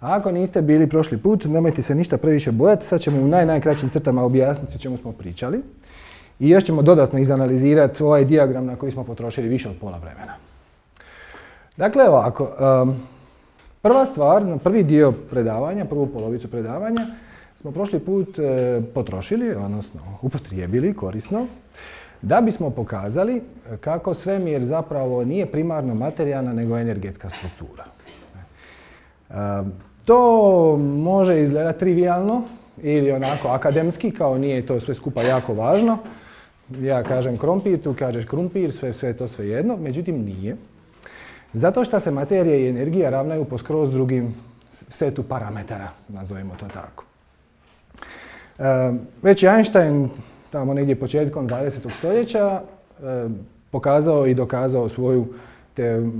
A ako niste bili prošli put, nemojte se ništa previše bojati, sad ćemo u najkraćim crtama objasniti o čemu smo pričali. I još ćemo dodatno izanalizirati ovaj dijagram na koji smo potrošili više od pola vremena. Dakle, ovako, prva stvar, na prvi dio predavanja, prvu polovicu predavanja, smo prošli put potrošili, odnosno upotrijebili korisno, da bismo pokazali kako svemir zapravo nije primarno materijalna, nego energetska struktura. To može izgledati trivijalno ili onako akademski, kao nije to sve skupa jako važno. Ja kažem krompir, tu kažeš krumpir, sve to svejedno, međutim nije. Zato što se materija i energija ravnaju po skroz drugim setu parametara, nazovimo to tako. Već je Einstein, tamo negdje početkom 20. stoljeća, pokazao i dokazao svoju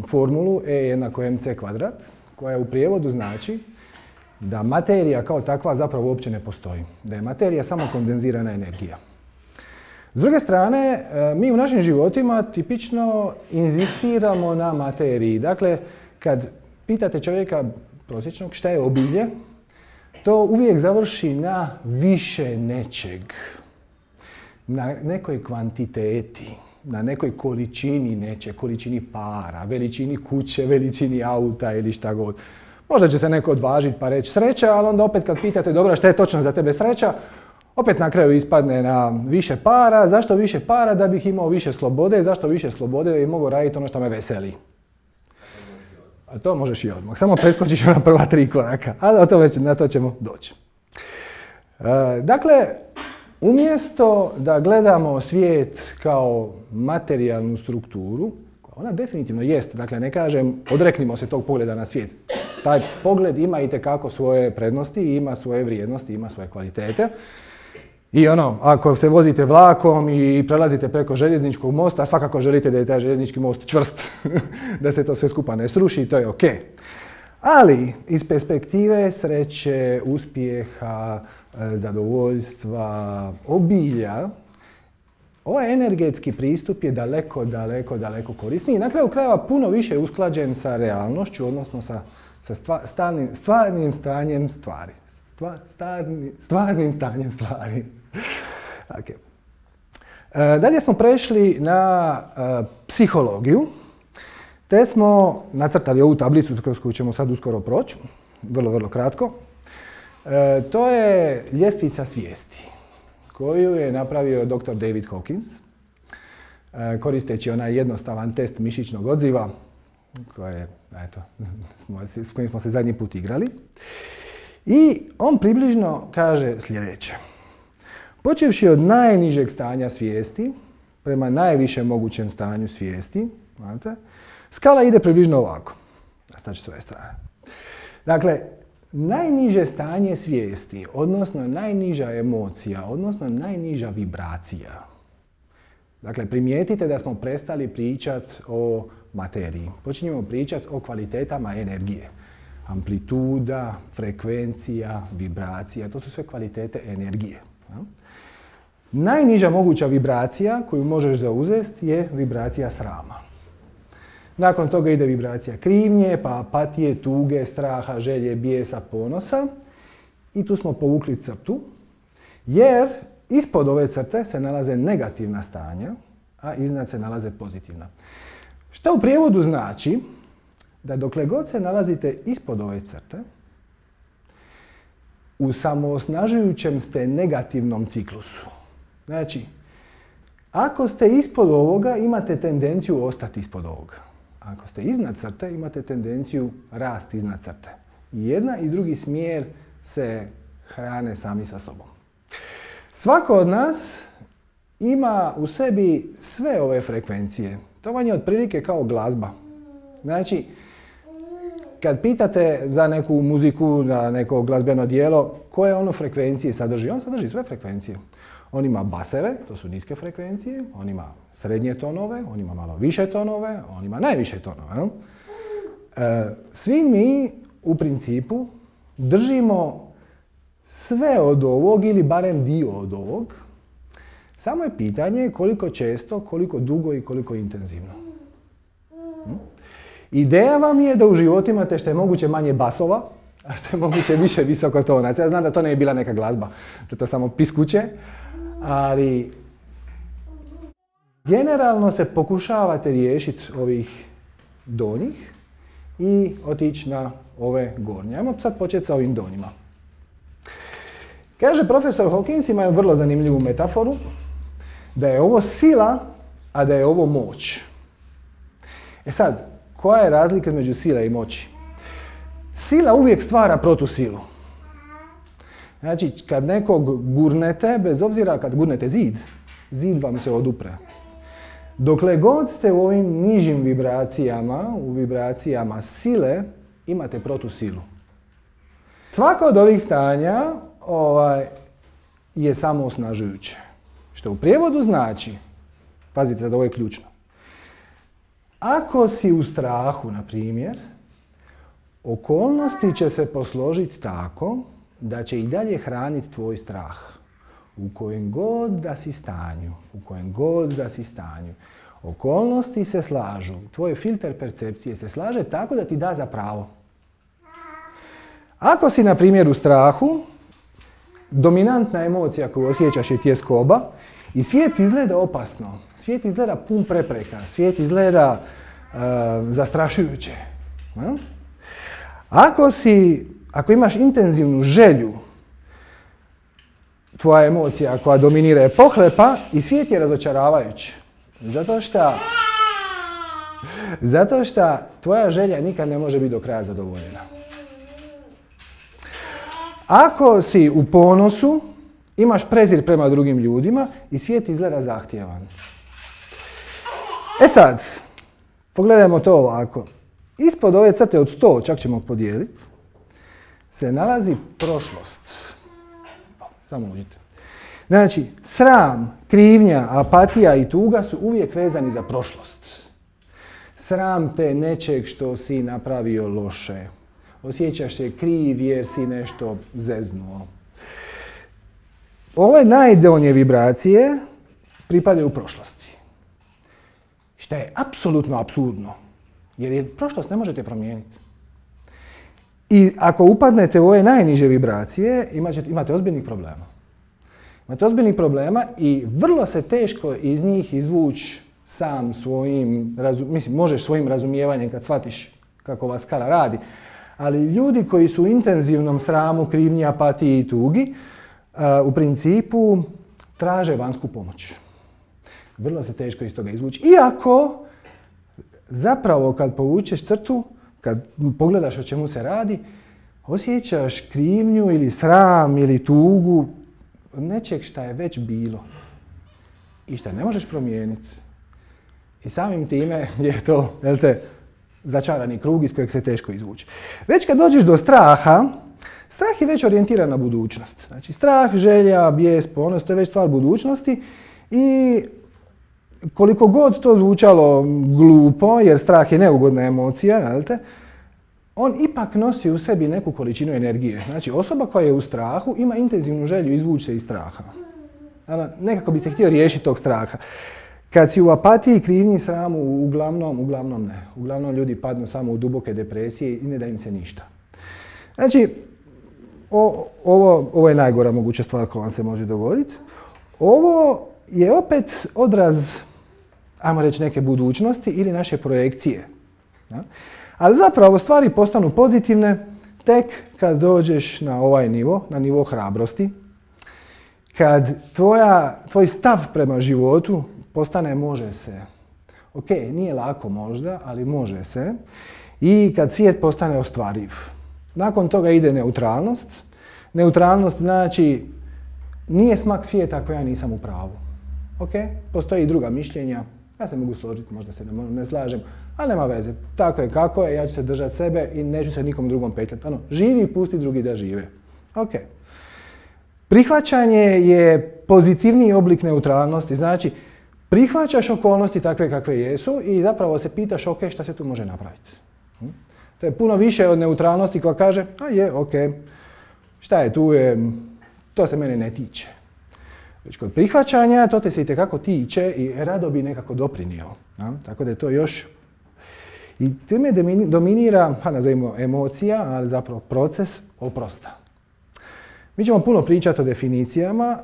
formulu E=mc², koja u prijevodu znači da materija kao takva zapravo uopće ne postoji. Da je materija samo kondenzirana energija. S druge strane, mi u našim životima tipično inzistiramo na materiji. Dakle, kad pitate čovjeka prosječnog šta je obilje, to uvijek završi na više nečeg. Na nekoj kvantiteti, na nekoj količini nečeg, količini para, veličini kuće, veličini auta ili šta god. Možda će se neko odvažiti pa reći sreća, ali onda opet kad pitate dobro šta je točno za tebe sreća, opet na kraju ispadne na više para. Zašto više para? Da bih imao više slobode. Zašto više slobode? Da bih mogao raditi ono što me veseli. A to možeš i odmah. Samo preskočiš na prva 3 koraka. Ali na to ćemo doći. Dakle, umjesto da gledamo svijet kao materijalnu strukturu, ona definitivno jest, dakle ne kažem odreknimo se tog pogleda na svijet. Taj pogled ima itekako svoje prednosti, ima svoje vrijednosti, ima svoje kvalitete. I ako se vozite vlakom i prelazite preko željezničkog mosta, svakako želite da je taj željeznički most čvrst, da se to sve skupa ne sruši, to je ok. Ali iz perspektive sreće, uspjeha, zadovoljstva, obilja, ovaj energetski pristup je daleko korisniji. Na kraju krajeva puno više usklađen sa realnošću, odnosno sa stvarnim stanjem stvari. Stvarnim stanjem stvari. Okay. Dalje smo prešli na psihologiju, te smo nacrtali ovu tablicu kroz koju ćemo sad uskoro proći, vrlo kratko. To je ljestvica svijesti koju je napravio dr. David Hawkins, koristeći onaj jednostavan test mišićnog odziva s kojim smo se zadnji put igrali. I on približno kaže sljedeće. Počevši od najnižeg stanja svijesti prema najvišem mogućem stanju svijesti, skala ide približno ovako. Znači s ove strane. Dakle, najniže stanje svijesti, odnosno najniža emocija, odnosno najniža vibracija. Dakle, primijetite da smo prestali pričati o materiji. Počinjemo pričati o kvalitetama energije. Amplituda, frekvencija, vibracija, to su sve kvalitete energije. Najniža moguća vibracija koju možeš zauzeti je vibracija srama. Nakon toga ide vibracija krivnje, pa apatije, tuge, straha, želje, bijesa, ponosa. I tu smo povukli crtu, jer ispod ove crte se nalaze negativna stanja, a iznad se nalaze pozitivna. Što u prijevodu znači da dokle god se nalazite ispod ove crte, u samoosnažujućem ste negativnom ciklusu. Znači, ako ste ispod ovoga, imate tendenciju ostati ispod ovoga. Ako ste iznad crte, imate tendenciju rasti iznad crte. I jedna i drugi smjer se hrane sami sa sobom. Svako od nas ima u sebi sve ove frekvencije. To vam je otprilike kao glazba. Znači, kad pitate za neku muziku, za neko glazbeno djelo, koje ono frekvencije sadrži? On sadrži sve frekvencije. On ima baseve, to su niske frekvencije, on ima srednje tonove, on ima malo više tonove, on ima najviše tonove. Svi mi u principu držimo sve od ovog ili barem dio od ovog. Samo je pitanje koliko često, koliko dugo i koliko intenzivno. Ideja vam je da u životu imate što je moguće manje basova, a što je moguće više visokotonac. Ja znam da to ne je bila neka glazba, da je to samo piskuće, ali generalno se pokušavate riješiti ovih donjih i otići na ove gornje. Ajmo sad početi sa ovim donjima. Kaže profesor Hawkins, ima vrlo zanimljivu metaforu, da je ovo sila, a da je ovo moć. E sad, koja je razlika između sile i moći? Sila uvijek stvara protusilu. Znači, kad nekog gurnete, bez obzira kad gurnete zid, zid vam se odupre. Dokle god ste u ovim nižim vibracijama, u vibracijama sile, imate protusilu. Svako od ovih stanja je samo osnažujuće. Što u prijevodu znači, pazite sad, ovo je ključno. Ako si u strahu, na primjer, okolnosti će se posložiti tako da će i dalje hraniti tvoj strah. U kojem god da si stanju, u kojem god da si stanju. Okolnosti se slažu, tvoj filter percepcije se slaže tako da ti da za pravo. Ako si, na primjer, u strahu, dominantna emocija koju osjećaš je tjeskoba i svijet izgleda opasno, svijet izgleda pun prepreka, svijet izgleda zastrašujuće. Ako imaš intenzivnu želju, tvoja emocija koja dominira je pohlepa i svijet je razočaravajući. Zato što tvoja želja nikad ne može biti do kraja zadovoljena. Ako si u ponosu, imaš prezir prema drugim ljudima i svijet izgleda zahtjevan. E sad, pogledajmo to ovako. Ispod ove crte od 100, čak ćemo podijeliti, se nalazi prošlost. Samo uđite. Znači, sram, krivnja, apatija i tuga su uvijek vezani za prošlost. Sram te nečeg što si napravio loše. Osjećaš se kriv jer si nešto zeznuo. Ove najdonje vibracije pripadaju u prošlosti. Što je apsolutno apsurdno. Jer prošlost ne možete promijeniti. I ako upadnete u ove najniže vibracije, imate ozbiljnih problema. Imate ozbiljnih problema i vrlo se teško iz njih izvući sam svojim, možeš svojim razumijevanjem kad shvatiš kako ova skala radi, ali ljudi koji su u intenzivnom sramu, krivnji, apatiji i tugi, u principu traže vanjsku pomoć. Vrlo se teško iz toga izvući. Iako, zapravo kad povučeš crtu, kad pogledaš o čemu se radi, osjećaš krivnju ili sram ili tugu nečeg šta je već bilo i šta ne možeš promijeniti. I samim time je to, začarani krug iz kojeg se teško izvući. Već kad dođeš do straha, strah je već orijentiran na budućnost. Znači strah, želja, bijes, ponos, to je već stvar budućnosti i koliko god to zvučalo glupo, jer strah je neugodna emocija, on ipak nosi u sebi neku količinu energije. Znači osoba koja je u strahu ima intenzivnu želju izvući se iz straha. Nekako bi se htio riješiti tog straha. Kad si u apatiji, krivnji, sramu, uglavnom ne. Uglavnom ljudi padnu samo u duboke depresije i ne da im se ništa. Znači, ovo je najgora moguća stvar koja vam se može dogoditi. Ovo je opet odraz, ajmo reći, neke budućnosti ili naše projekcije. Ali zapravo stvari postanu pozitivne tek kad dođeš na ovaj nivo, na nivo hrabrosti. Kad tvoj stav prema životu postane može se. Ok, nije lako možda, ali može se. I kad svijet postane ostvariv. Nakon toga ide neutralnost. Neutralnost znači nije smak svijeta ako ja nisam u pravu. Ok, postoji i druga mišljenja. Ja se mogu složiti, možda se ne slažem, ali nema veze. Tako je kako je, ja ću se držati sebe i neću se nikom drugom petljati. Živi i pusti drugi da žive. Ok. Prihvaćanje je pozitivniji oblik neutralnosti. Znači, prihvaćaš okolnosti takve kakve jesu i zapravo se pitaš, ok, šta se tu može napraviti? To je puno više od neutralnosti koja kaže, ok, šta je tu, to se mene ne tiče. Već kod prihvaćanja, to te se itekako tiče i rado bi nekako doprinio. Tako da je to još. I time dominira, nazovimo emocija, ali zapravo proces oprosta. Mi ćemo puno pričati o definicijama,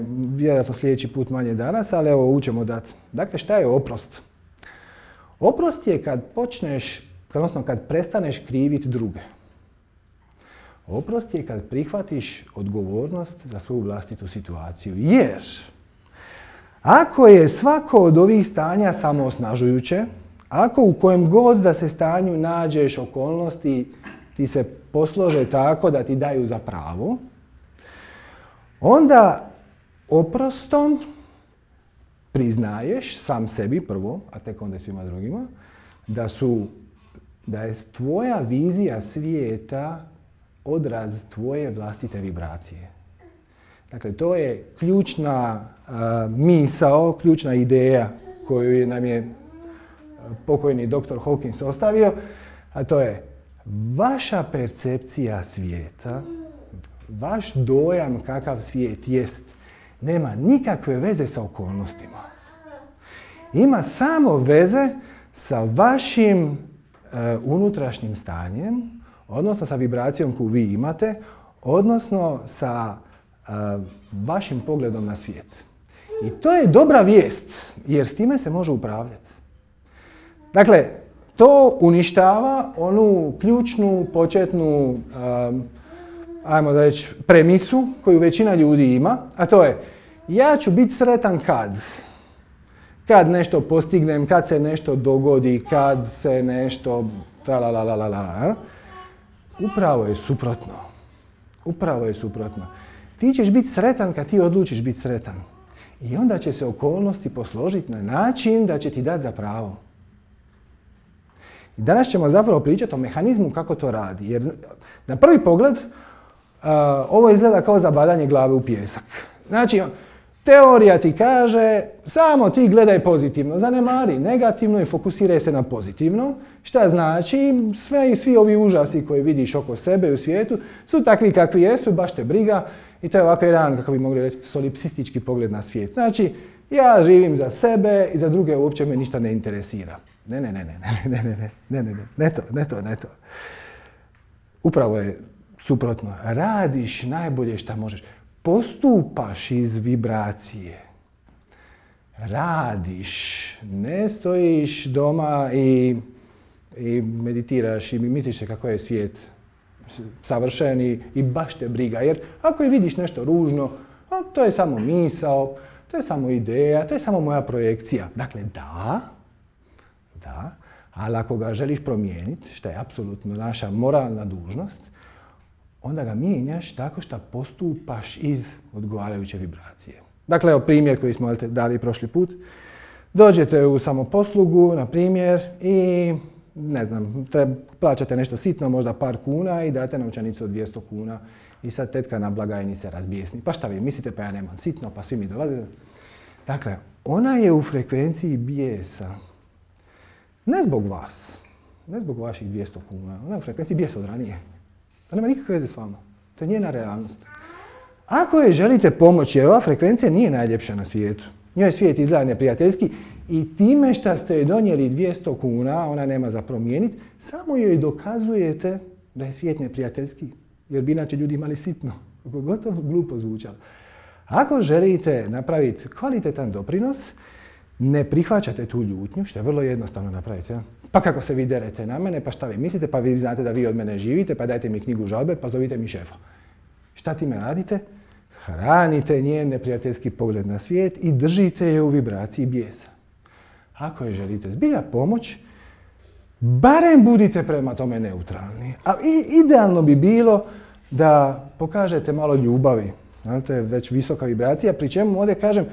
vjerojatno sljedeći put manje danas, ali evo učemo dati. Dakle, šta je oprost? Oprost je kad prestaneš kriviti druge. Oprost je kad prihvatiš odgovornost za svoju vlastitu situaciju. Jer ako je svako od ovih stanja samoosnažujuće, ako u kojem god da se stanju nađeš okolnosti ti se poslože tako da ti daju za pravo, onda oprostom priznaješ sam sebi prvo, a tek onda svima drugima, da je tvoja vizija svijeta odraz tvoje vlastite vibracije. Dakle, to je ključna misao, ključna ideja koju nam je pokojni dr. Hawkins ostavio, a to je vaša percepcija svijeta, vaš dojam kakav svijet jest, nema nikakve veze sa okolnostima. Ima samo veze sa vašim unutrašnjim stanjem, odnosno sa vibracijom koju vi imate, odnosno sa vašim pogledom na svijet. I to je dobra vijest, jer s time se može upravljati. Dakle, to uništava onu ključnu, početnu, ajmo da reći, premisu koju većina ljudi ima, a to je ja ću biti sretan kad nešto postignem, kad se nešto dogodi, kad se nešto tralalalala. Upravo je suprotno. Upravo je suprotno. Ti ćeš biti sretan kad ti odlučiš biti sretan. I onda će se okolnosti posložiti na način da će ti dati za pravo. I danas ćemo zapravo pričati o mehanizmu kako to radi. Jer na prvi pogled ovo izgleda kao zabadanje glave u pijesak. Znači, teorija ti kaže samo ti gledaj pozitivno, zanemari negativno i fokusiraj se na pozitivno. Šta znači? Svi ovi užasi koje vidiš oko sebe i u svijetu su takvi kakvi jesu, baš te briga. I to je ovako jedan, kako bi mogli reći, solipsistički pogled na svijet. Znači, ja živim za sebe i za druge uopće me ništa ne interesira. Ne to. Upravo je suprotno. Radiš najbolje šta možeš. Postupaš iz vibracije. Radiš. Ne stojiš doma i meditiraš i misliš se kako je svijet savršen i baš te briga. Jer ako je vidiš nešto ružno, to je samo misao, to je samo ideja, to je samo moja projekcija. Dakle, da, ali ako ga želiš promijeniti, što je apsolutno naša moralna dužnost, onda ga mijenjaš tako što postupaš iz odgovarajuće vibracije. Dakle, evo primjer koji smo dali prošli put. Dođete u samoposlugu, na primjer, i ne znam, plaćate nešto sitno, možda par kuna i date novčanicu od 200 kuna i sad tetka na blagajni se razbijesni. Pa šta vi mislite, pa ja nemam sitno, pa svi mi dolaze. Dakle, ona je u frekvenciji bijesa. Ne zbog vas, ne zbog vaših 200 kuna, ona je u frekvenciji bijesa od ranije. To nema nikakve veze s vama. To je njena realnost. Ako je želite pomoći, jer ova frekvencija nije najljepša na svijetu, njoj svijet izgleda neprijateljski i time što ste joj donijeli 200 kuna, ona nema za promijeniti, samo joj dokazujete da je svijet neprijateljski, jer bi inače ljudi imali sitno, gotovo glupo zvučalo. Ako želite napraviti kvalitetan doprinos, ne prihvaćate tu ljutnju, što je vrlo jednostavno napraviti. Ja? Pa kako se vi derete na mene, pa šta vi mislite, pa vi znate da vi od mene živite, pa dajte mi knjigu žalbe, pa zovite mi šefa. Šta time radite? Hranite njen neprijateljski pogled na svijet i držite je u vibraciji bijesa. Ako je želite zbilja pomoć, barem budite prema tome neutralni. A idealno bi bilo da pokažete malo ljubavi. To je već visoka vibracija, pri čemu ovdje kažem,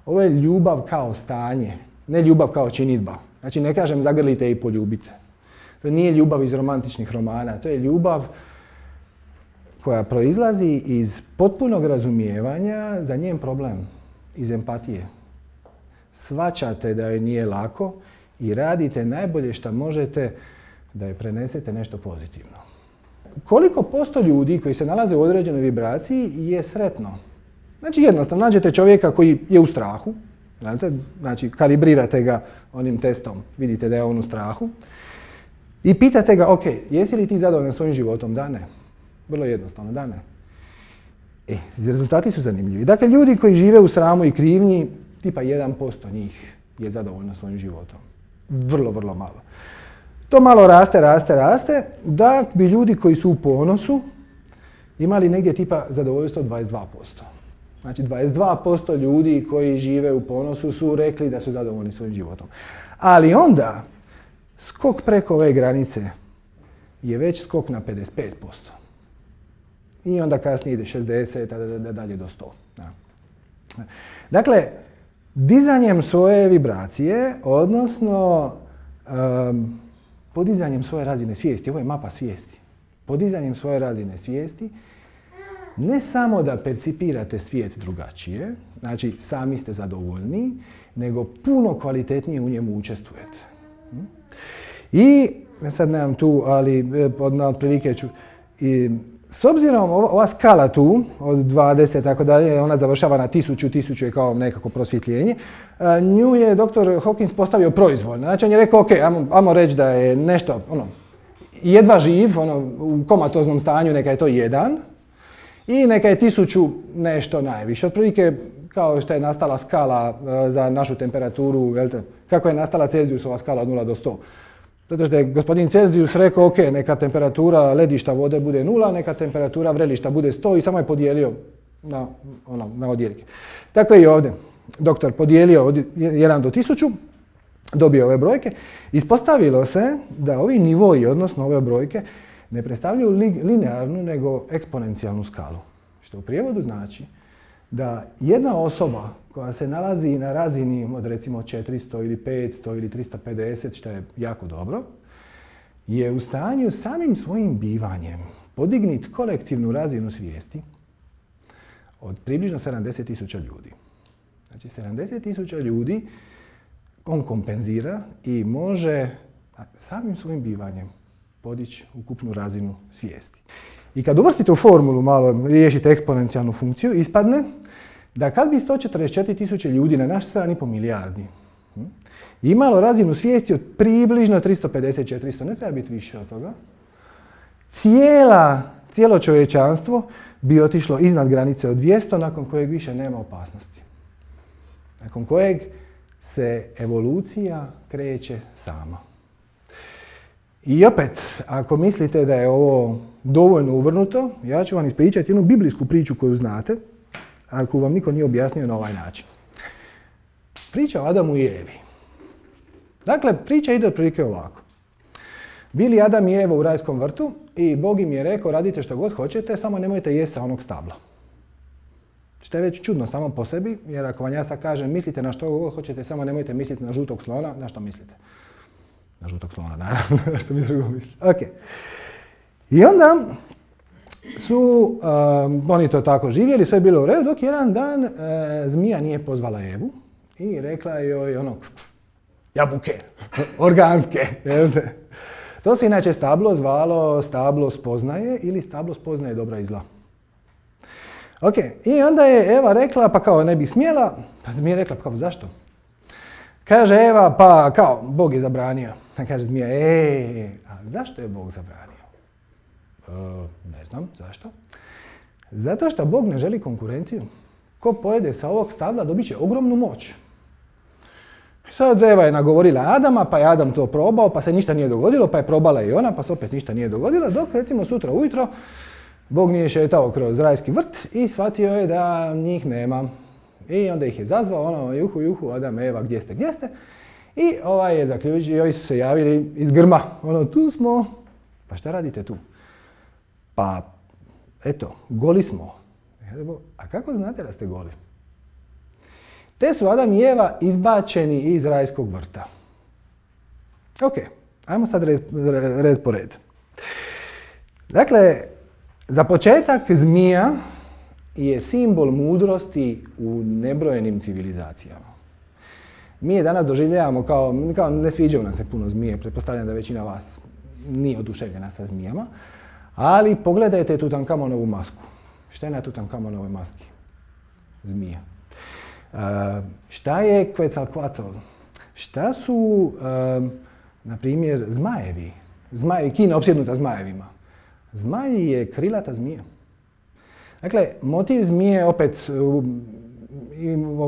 ovo je ljubav kao stanje, ne ljubav kao činidba. Znači ne kažem zagrlite i poljubite. To nije ljubav iz romantičnih romana, to je ljubav koja proizlazi iz potpunog razumijevanja za njen problem, iz empatije. Shvaćate da joj nije lako i radite najbolje što možete da joj prenesete nešto pozitivno. Koliko posto ljudi koji se nalaze u određenoj vibraciji je sretno? Znači jednostavno, nađete čovjeka koji je u strahu, znači kalibrirate ga onim testom, vidite da je on u strahu. I pitate ga, ok, jesi li ti zadovoljan svojim životom? Da, ne. Vrlo jednostavno, da, ne. Rezultati su zanimljivi. Dakle, ljudi koji žive u sramu i krivnji, tipa 1% njih je zadovoljno svojim životom. Vrlo, vrlo malo. To malo raste, da bi ljudi koji su u ponosu imali negdje tipa zadovoljstvo 22%. Znači 22% ljudi koji žive u ponosu su rekli da su zadovoljni svojim životom. Ali onda skok preko ove granice je već skok na 55%. I onda kasnije ide 60, a dalje do 100. Dakle, dizanjem svoje vibracije, odnosno podizanjem svoje razine svijesti, ovo je mapa svijesti, podizanjem svoje razine svijesti, ne samo da percipirate svijet drugačije, znači sami ste zadovoljni, nego puno kvalitetnije u njemu učestvujete. I, sad nemam tu, ali otprilike ću, s obzirom ova skala tu, od 20 tako dalje, ona završava na 1000 je kao nekako prosvjetljenje, nju je dr. Hawkins postavio proizvoljno. Znači on je rekao, ok, ajmo reći da je nešto, jedva živ, u komatoznom stanju, neka je to 1, i neka je 1000 nešto najviše. Otprilike kao što je nastala skala za našu temperaturu, kako je nastala Celzijusova skala od 0 do 100. Zato što je gospodin Celzijus rekao, ok, neka temperatura ledišta vode bude 0, neka temperatura vrelišta bude 100 i samo je podijelio na odjelike. Tako je i ovdje. Doktor podijelio od 1 do 1000, dobio ove brojke. Ispostavilo se da ovi nivoi, odnosno ove brojke, ne predstavljaju linearnu nego eksponencijalnu skalu. Što u prijevodu znači da jedna osoba koja se nalazi na razini od recimo 400 ili 500 ili 350, što je jako dobro, je u stanju samim svojim bivanjem podignuti kolektivnu razinu svijesti od približno 70.000 ljudi. Znači 70.000 ljudi on kompenzira i može samim svojim bivanjem podići ukupnu razinu svijesti. I kad uvrstite u formulu malo, riješite eksponencijalnu funkciju, ispadne da kad bi 144.000 ljudi na naš 7,5 milijardi imalo razinu svijesti od približno 350-400, ne treba biti više od toga, cijelo čovječanstvo bi otišlo iznad granice od 200, nakon kojeg više nema opasnosti. Nakon kojeg se evolucija kreće sama. I opet, ako mislite da je ovo dovoljno uvrnuto, ja ću vam ispričati jednu biblijsku priču koju znate, ako vam niko nije objasnio na ovaj način. Priča o Adamu i Evi. Dakle, priča ide otprilike ovako. Bili Adam i Eva u rajskom vrtu i Bog im je rekao radite što god hoćete, samo nemojte jesti sa onog stabla. Što je već čudno samo po sebi, jer ako vam ja sad kažem mislite na što god hoćete, samo nemojte misliti na žutog slona, na što mislite? Na žutog slona, naravno, na što mi drugo mislite. Ok. I onda su oni to tako živjeli, sve je bilo u redu, dok jedan dan zmija nije pozvala Evu i rekla joj jabuke, organske. To se inače stablo zvalo stablo spoznaje ili stablo spoznaje dobra i zla. Ok, i onda je Eva rekla, pa kao ne bi smjela, pa zmija rekla, pa kao zašto? Kaže Eva, pa kao Bog je zabranio. Kaže zmija, a zašto je Bog zabranio? Ne znam, zašto? Zato što Bog ne želi konkurenciju. Ko pojede sa ovog stabla dobit će ogromnu moć. Sad Eva je nagovorila Adama, pa je Adam to probao, pa se ništa nije dogodilo, pa je probala i ona, pa se opet ništa nije dogodilo, dok recimo sutra ujutro Bog nije šetao kroz rajski vrt i shvatio je da njih nema. I onda ih je zazvao, juhu, Adam, Eva, gdje ste? I ovaj je zaključio, i ovi su se javili iz grma, tu smo, pa šta radite tu? Pa, eto, goli smo. A kako znate da ste goli? Te su Adam i Eva izbačeni iz rajskog vrta. Ok, ajmo sad red po red. Dakle, za početak zmija je simbol mudrosti u nebrojenim civilizacijama. Mi je danas doživljavamo kao ne sviđaju nam se puno zmije, pretpostavljam da većina vas nije oduševljena sa zmijama, ali pogledajte Tutankamonovu masku. Šta je na Tutankamonovoj maski? Zmija. Šta je Quetzalcoatl? Šta su, na primjer, zmajevi? Kina opsjednuta zmajevima. Zmaj je krilata zmija. Dakle, motiv zmije opet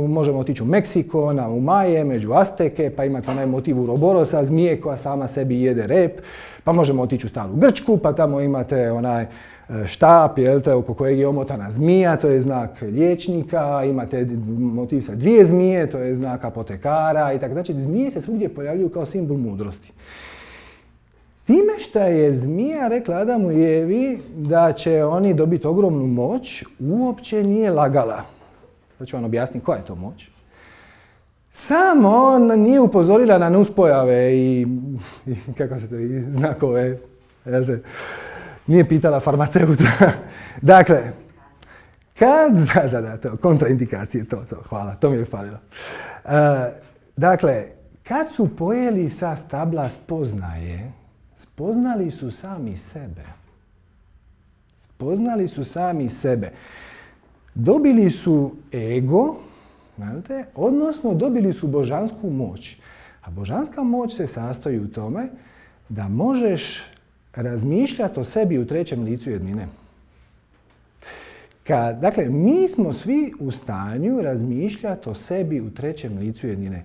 možemo otići u Meksiko, u Maje, među Azteke, pa imate onaj motiv Uroborosa, zmije koja sama sebi jede rep, pa možemo otići u staru Grčku, pa tamo imate onaj štap, oko kojeg je omotana zmija, to je znak liječnika, imate motiv sa 2 zmije, to je znak apotekara i tako. Znači, zmije se svugdje pojavljuju kao simbol mudrosti. Time što je zmija rekla Adamu i Evi da će oni dobiti ogromnu moć, uopće nije lagala. Sad ću vam objasniti koja je to moć. Samo nije upozorila na nuspojave i kako se to, i znakove. Nije pitala farmaceuta. Dakle, to, kontraindikacije, to, hvala, to mi je falilo. Dakle, kad su pojeli sa stabla spoznaje, spoznali su sami sebe. Spoznali su sami sebe. Dobili su ego, odnosno dobili su božansku moć. A božanska moć se sastoji u tome da možeš razmišljati o sebi u trećem licu jednine. Dakle, mi smo svi u stanju razmišljati o sebi u trećem licu jednine.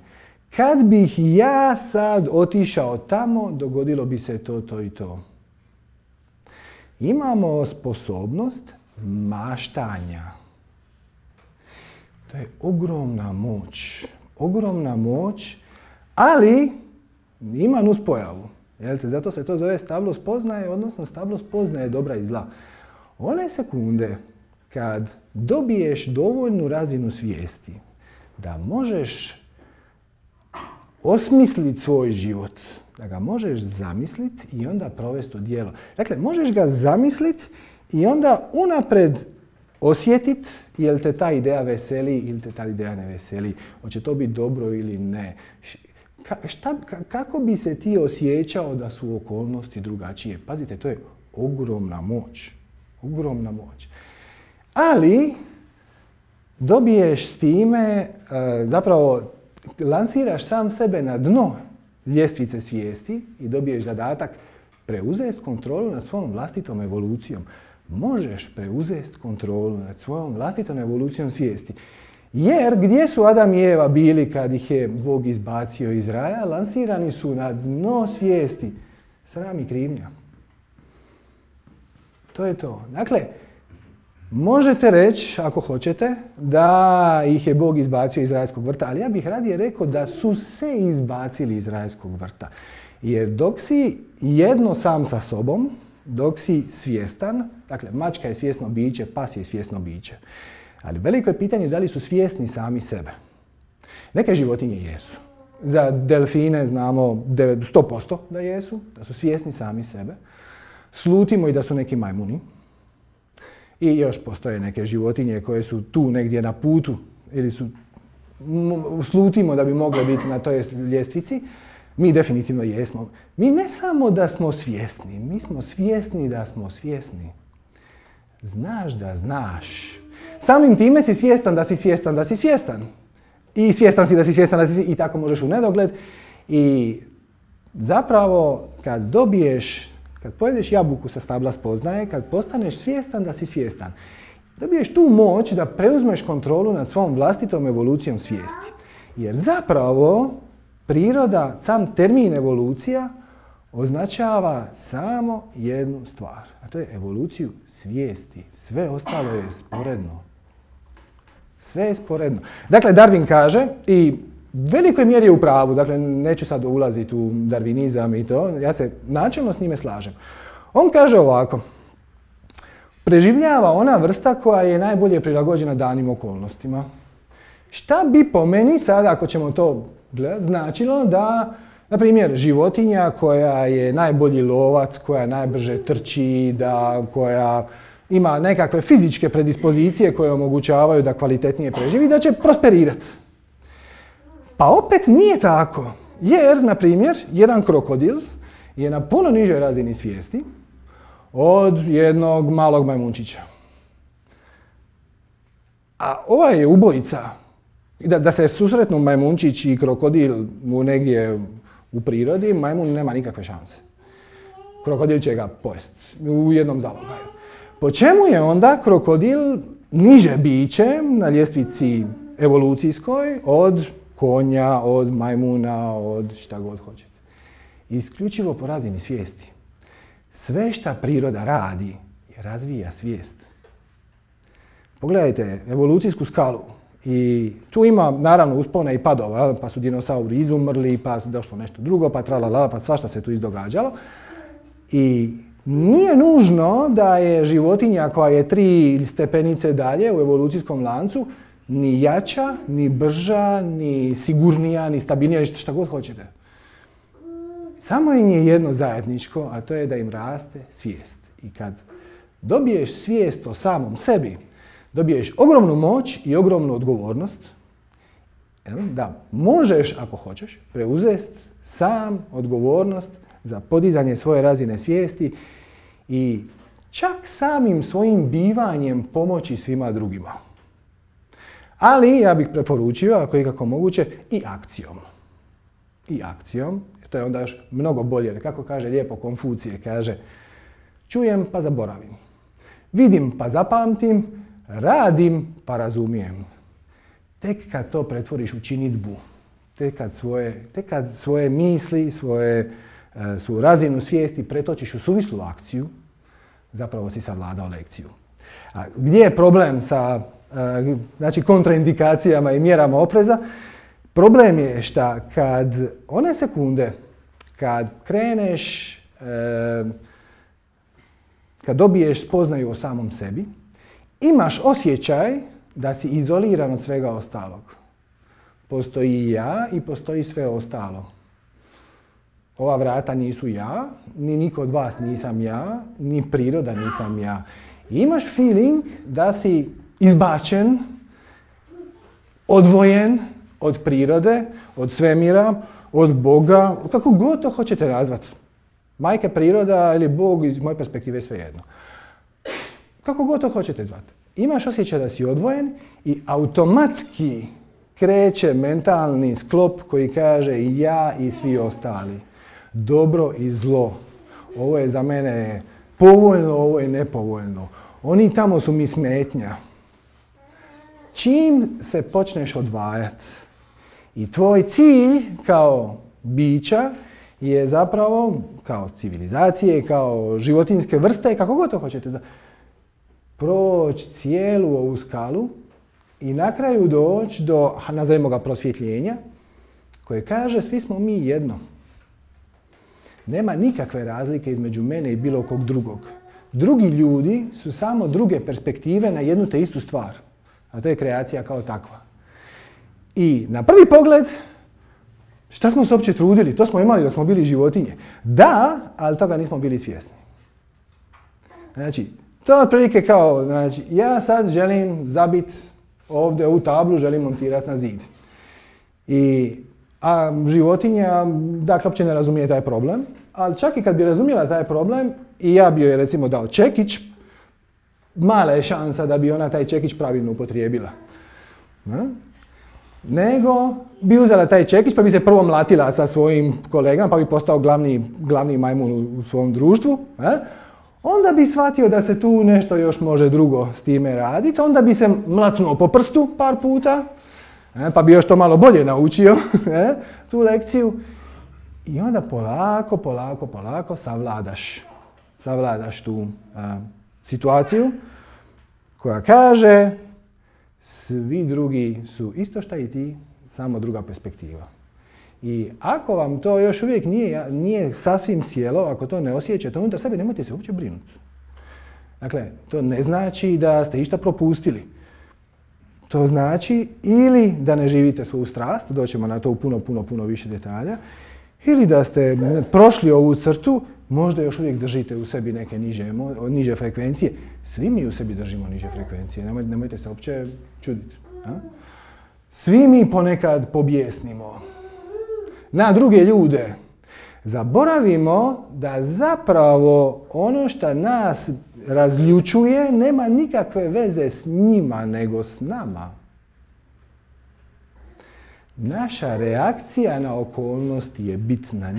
Kad bih ja sad otišao tamo, dogodilo bi se to, to i to. Imamo sposobnost maštanja. To je ogromna moć. Ogromna moć, ali ima nuspojavu. Zato se to zove stablo spoznaje, odnosno stablo spoznaje dobra i zla. One sekunde kad dobiješ dovoljnu razinu svijesti da možeš osmisliti svoj život, da ga možeš zamisliti i onda provesti u djelo. Dakle, možeš ga zamisliti i onda unaprijed osjetiti je li te ta ideja veseli ili te ta ideja ne veseli. Hoće to biti dobro ili ne. Kako bi se ti osjećao da su okolnosti drugačije? Pazite, to je ogromna moć. Ogromna moć. Ali dobiješ s time, zapravo lansiraš sam sebe na dno ljestvice svijesti i dobiješ zadatak preuzeti kontrolu nad svojom vlastitom evolucijom. Možeš preuzeti kontrolu nad svojom vlastitom evolucijom svijesti. Jer gdje su Adam i Eva bili kad ih je Bog izbacio iz raja? Lansirani su na dno svijesti. Sram i krivnja. To je to. Dakle, možete reći, ako hoćete, da ih je Bog izbacio iz rajskog vrta, ali ja bih radije rekao da su se izbacili iz rajskog vrta. Jer dok si jedno sam sa sobom, dok si svjestan, dakle, mačka je svjesno biće, pas je svjesno biće. Ali veliko je pitanje da li su svjesni sami sebe. Neke životinje jesu. Za delfine znamo 100% da jesu, da su svjesni sami sebe. Slutimo i da su neki majmuni. I još postoje neke životinje koje su tu negdje na putu ili slutimo da bi mogle biti na toj ljestvici. Mi definitivno jesmo. Mi ne samo da smo svjesni, mi smo svjesni da smo svjesni. Znaš da znaš. Samim time si svjestan da si svjestan da si svjestan. I svjestan si da si svjestan da si i tako možeš u nedogled. I zapravo kad pojedeš jabuku sa stabla spoznaje, kad postaneš svjestan da si svjestan, dobiješ tu moć da preuzmeš kontrolu nad svom vlastitom evolucijom svijesti. Jer zapravo priroda, sam termin evolucija, označava samo jednu stvar, a to je evoluciju svijesti. Sve ostalo je sporedno. Sve je sporedno. Dakle, Darwin kaže, i u velikoj mjeri je u pravu, dakle, neću sad ulaziti u darvinizam i to, ja se načelno s njime slažem. On kaže ovako, preživljava ona vrsta koja je najbolje prilagođena danim okolnostima. Šta bi po meni sada, ako ćemo to gledati, značilo da, na primjer, životinja koja je najbolji lovac, koja najbrže trči, koja ima nekakve fizičke predispozicije koje omogućavaju da kvalitetnije preživi, da će prosperirati. Pa opet nije tako, jer, na primjer, jedan krokodil je na puno nižoj razini svijesti od jednog malog majmunčića. A ovaj je ubojica. Da se susretnu majmunčić i krokodil negdje u prirodi, majmun nema nikakve šanse. krokodil će ga pojesti u jednom zalogaju. Po čemu je onda krokodil niže biće na ljestvici evolucijskoj od konja, od majmuna, od šta god hoćete? Isključivo po razini svijesti. Sve šta priroda radi je razvija svijest. Pogledajte evolucijsku skalu i tu ima naravno uspona i padova, pa su dinosauri izumrli, pa su došlo nešto drugo, pa tralala, pa svašta se tu izdogađalo. I nije nužno da je životinja koja je 3 stepenice dalje u evolucijskom lancu ni jača, ni brža, ni sigurnija, ni stabilnija, šta god hoćete. Samo im je jedno zajedničko, a to je da im raste svijest. I kad dobiješ svijest o samom sebi, dobiješ ogromnu moć i ogromnu odgovornost da možeš, ako hoćeš, preuzeti sam odgovornost za podizanje svoje razine svijesti i čak samim svojim bivanjem pomoći svima drugima. Ali ja bih preporučio, ako je ikako moguće, i akcijom. I akcijom, to je onda još mnogo bolje, jer kako kaže lijepo Konfucije, kaže čujem pa zaboravim, vidim pa zapamtim, radim pa razumijem. Tek kad to pretvoriš u činidbu, tek kad svoje misli, svoju razinu svijesti pretočiš u suvislu akciju, zapravo si savladao lekciju. A gdje je problem sa kontraindikacijama i mjerama opreza? Problem je što kad one sekunde, kad kreneš, kad dobiješ spoznaju o samom sebi, imaš osjećaj da si izoliran od svega ostalog. Postoji ja i postoji sve ostalo. Ova vrata nisu ja, ni niko od vas nisam ja, ni priroda nisam ja. I imaš feeling da si izbačen, odvojen od prirode, od svemira, od Boga, kako god to hoćete nazvati. Majka priroda ili Bog, iz moje perspektive je svejedno. Kako god to hoćete zvati. Imaš osjećaj da si odvojen i automatski kreće mentalni sklop koji kaže ja i svi ostali. Dobro i zlo. Ovo je za mene povoljno, ovo je nepovoljno. Oni tamo su mi smetnja. Čim se počneš odvajati i tvoj cilj kao bića je zapravo, kao civilizacije, kao životinjske vrste, kako god to hoćete, proći cijelu ovu skalu i na kraju doći do, nazovimo ga, prosvjetljenja, koje kaže svi smo mi jedno. Nema nikakve razlike između mene i bilo kog drugog. Drugi ljudi su samo druge perspektive na jednu te istu stvar, a to je kreacija kao takva. I na prvi pogled, šta smo se uopće trudili? To smo imali dok smo bili životinje. Da, ali toga nismo bili svjesni. Znači, to je otprilike kao, ja sad želim zabiti ovdje u tablu, želim montirati na zid. A životinja, dakle, uopće ne razumije taj problem, ali čak i kad bi razumjela taj problem i ja bi joj recimo dao čekić, mala je šansa da bi ona taj čekić pravilno upotrijebila. Nego bi uzela taj čekić pa bi se prvo mlatila sa svojim kolegama pa bi postao glavni majmun u svom društvu. Onda bi shvatio da se tu nešto još može drugo s time raditi, onda bi se mlacnuo po prstu par puta, pa bi još to malo bolje naučio, tu lekciju. I onda polako savladaš tu situaciju koja kaže svi drugi su isto šta i ti, samo druga perspektiva. I ako vam to još uvijek nije sasvim sjelo, ako to ne osjećate unutar sebe, nemojte se uopće brinuti. Dakle, to ne znači da ste išta propustili. To znači ili da ne živite svoju strast, doćemo na to u puno više detalja, ili da ste prošli ovu crtu, možda još uvijek držite u sebi neke niže frekvencije. Svi mi u sebi držimo niže frekvencije, nemojte se uopće čuditi. Svi mi ponekad pobjesnimo na druge ljude. Zaboravimo da zapravo ono što nas razljučuje nema nikakve veze s njima, nego s nama. Naša reakcija na okolnosti je bitna.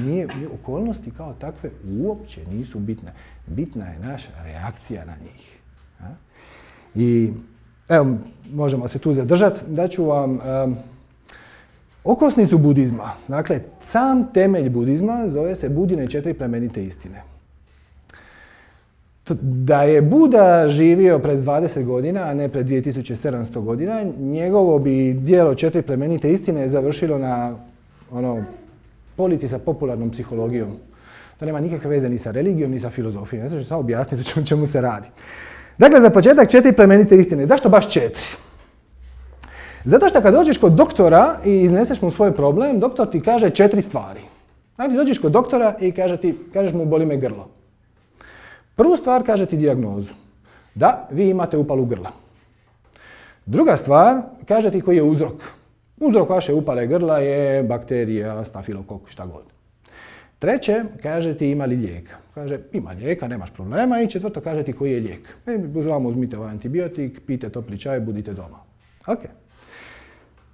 Okolnosti kao takve uopće nisu bitne. Bitna je naša reakcija na njih. I evo, možemo se tu zadržati. Daću vam okosnicu budizma. Dakle, sam temelj budizma zove se Budine 4 plemenite istine. Da je Buda živio pred 20 godina, a ne pred 2700 godina, njegovo bi djelo 4 plemenite istine završilo na polici sa popularnom psihologijom. To nema nikakve veze ni sa religijom, ni sa filozofijom. Ja ću samo objasniti o čemu se radi. Dakle, za početak 4 plemenite istine. Zašto baš 4? Zato što kad dođeš kod doktora i izneseš mu svoj problem, doktor ti kaže 4 stvari. Znači, dođeš kod doktora i kažeš mu boli me grlo. Prvu stvar kaže ti dijagnozu. Da, vi imate upalu grla. Druga stvar kaže ti koji je uzrok. Uzrok vaše upale grla je bakterija, stafilokok, šta god. Treće, kaže ti ima li lijeka. Kaže ima lijeka, nemaš problema. I četvrto, kaže ti koji je lijek. Vam uzmite ovaj antibiotik, pijte topli čaj, budite doma. Ok.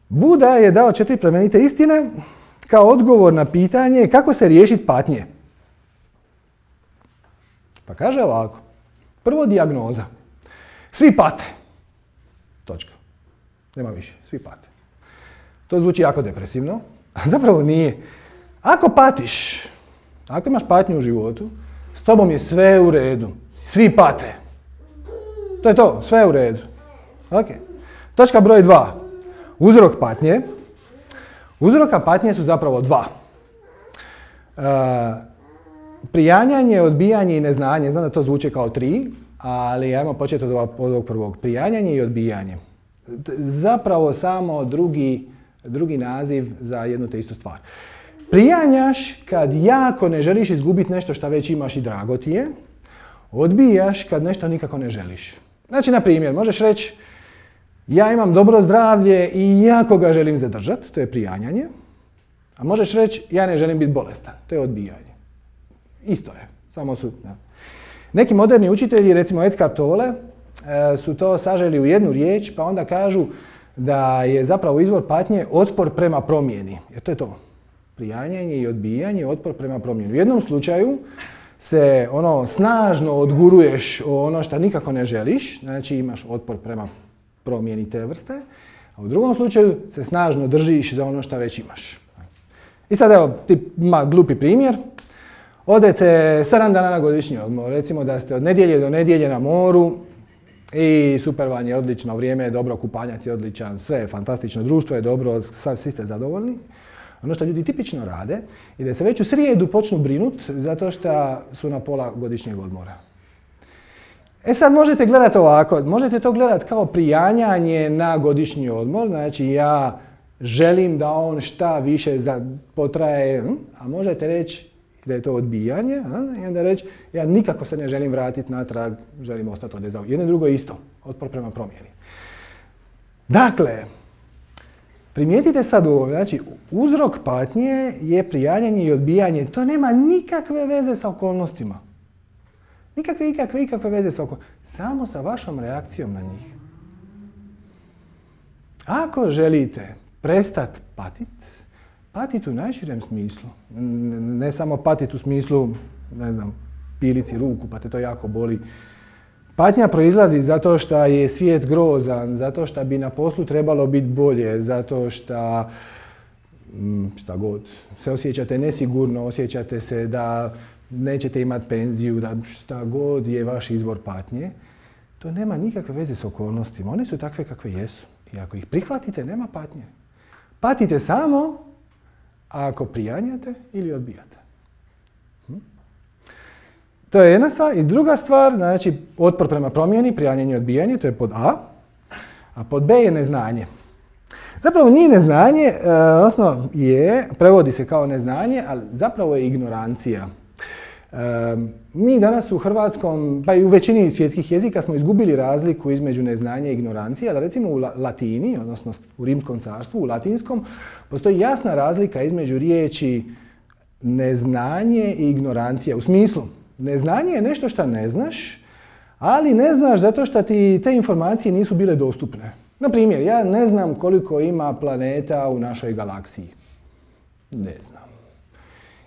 Buda je dao 4 plemenite istine kao odgovor na pitanje kako se riješiti patnje. Pa kaže ovako. Prvo dijagnoza. Svi pate. Točka. Nema više. Svi pate. To zvuči jako depresivno, a zapravo nije. Ako patiš, ako imaš patnju u životu, s tobom je sve u redu. Svi pate. To je to. Sve je u redu. Ok. Točka broj 2. Uzrok patnje. Uzroka patnje su zapravo 2. Prijanjanje, odbijanje i neznanje. Znam da to zvuči kao 3, ali ajmo početi od ovog prvog. Prijanjanje i odbijanje. Zapravo samo drugi naziv za jednu te istu stvar. Prijanjaš kad jako ne želiš izgubiti nešto što već imaš i drago ti je. Odbijaš kad nešto nikako ne želiš. Znači, na primjer, možeš reći ja imam dobro zdravlje i jako ga želim zadržati, to je prijanjanje. A možeš reći ja ne želim biti bolestan, to je odbijanje. Isto je, samo su... Ja. Neki moderni učitelji, recimo Eckhart Tolle, su to saželi u jednu riječ, pa onda kažu da je zapravo izvor patnje otpor prema promjeni. Jer to je to. Prijanjanje i odbijanje, otpor prema promjeni. U jednom slučaju se snažno odguruješ ono što nikako ne želiš, znači imaš otpor prema promjeni te vrste, a u drugom slučaju se snažno držiš za ono što već imaš. I sad evo, glupi primjer. Odete 7 dana na godišnji odmor, recimo da ste od nedjelje do nedjelje na moru i super vam je odlično, vrijeme je dobro, kupanjac je odličan, sve je fantastično, društvo je dobro, svi ste zadovoljni. Ono što ljudi tipično rade je da se već u srijedu počnu brinut zato što su na pola godišnjeg odmora. E sad možete gledati ovako, možete to gledati kao prijanjanje na godišnji odmor, znači ja želim da on šta više potraje, a možete reći da je to odbijanje, i onda reći ja nikako se ne želim vratiti natrag, želim ostati ovdje za jedno i drugo isto, otpor prema promjeni. Dakle, primijetite sad ovo, znači uzrok patnje je prijanjanje i odbijanje, to nema nikakve veze sa okolnostima. Nikakve veze sa okolnostima, samo sa vašom reakcijom na njih. Ako želite prestati patiti u najširem smislu, ne samo patiti u smislu, ne znam, pilici ruku pa te to jako boli. Patnja proizlazi zato što je svijet grozan, zato što bi na poslu trebalo biti bolje, zato što šta god, se osjećate nesigurno, osjećate se da nećete imati penziju, da šta god je vaš izvor patnje. To nema nikakve veze s okolnostima, one su takve kakve jesu. I ako ih prihvatite, nema patnje. Patite samo ako prijanjate ili odbijate. To je jedna stvar. I druga stvar, znači otpor prema promjeni, prijanjanje i odbijanje, to je pod A. A pod B je neznanje. Zapravo nije neznanje, odnosno prevodi se kao neznanje, ali zapravo je ignorancija. Mi danas u hrvatskom, pa i u većini svjetskih jezika smo izgubili razliku između neznanja i ignorancije, ali recimo u latini, odnosno u Rimskom carstvu, u latinskom, postoji jasna razlika između riječi neznanje i ignorancija. U smislu, neznanje je nešto što ne znaš, ali ne znaš zato što ti te informacije nisu bile dostupne. Na primjer, ja ne znam koliko ima planeta u našoj galaksiji. Ne znam.